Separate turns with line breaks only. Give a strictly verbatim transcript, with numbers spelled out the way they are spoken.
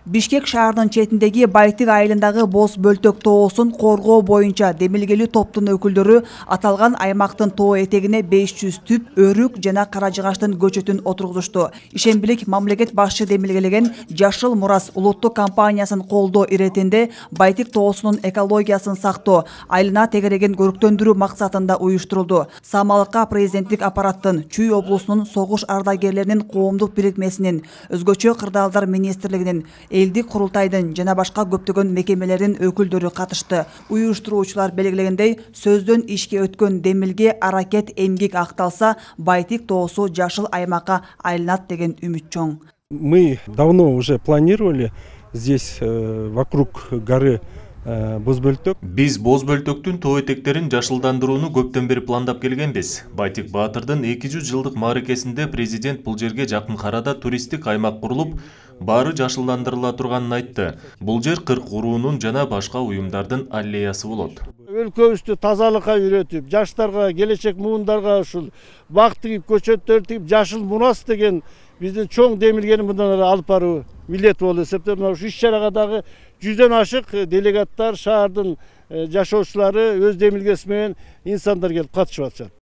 Бишкек шаарынын четиндеги Байтык айылындагы Боз Бөлтөк тоосун коргоо боюнча демилгелүү топтун өкүлдөрү аталган аймактын тоо этегине беш жүз түп өрүк жана кара жыгачтын көчөтүн отургузушту. Ишембилик мамлекет башчы демилгелеген Жашыл Мурас улуттук компаниясын колдоо иретинде Байтык тоосунун экологиясын сактоо, айылына тегереген көрктөндүрүү максатында уюштурулду. Самалыкка президенттик аппараттын, Чүй облусунун согуш ардагерлеринин коомдук бирикмесинин, өзгөчө кырдаалдар министрлигинин, элдик курултайдын жана башка көптөгөн мекемелердин өкүлдөрү катышты. Уюштуруучулар белгилегендей, сөздөн ишке өткөн демилге аракет эмгек акталса, Байтык тоосу жашыл аймакка айланат деген үмүт чоң.
Мы давно уже планировали здесь вокруг горы Боз Бөлтөк.
Биз Боз Бөлтөктүн тоо этектерин жашылдандырууну көптөн бери пландап келгенбиз. Байтык Баатырдын эки жүз жылдык мааракесинде президент бул жерге жакын арада туристтик аймак курулуп, баары жашылдандырыла турганын айтты. Бул жер кырк уруунун жана башка уюмдардын аллеясы болот.
Өлкөбүздү тазалыкка үйрөтүп, жаштарга, келечек муундарга ушул бак тигип, көчөттөр тигип, Жашыл Мурас деген биздин чоң демилгени мындан ары алып баруу милдет болуп эсептейм. Мына ушул иш-чарага дагы жүздөн ашык делегаттар, шаардын жашоочулары өз демилгеси менен инсандар келип катышып атышат.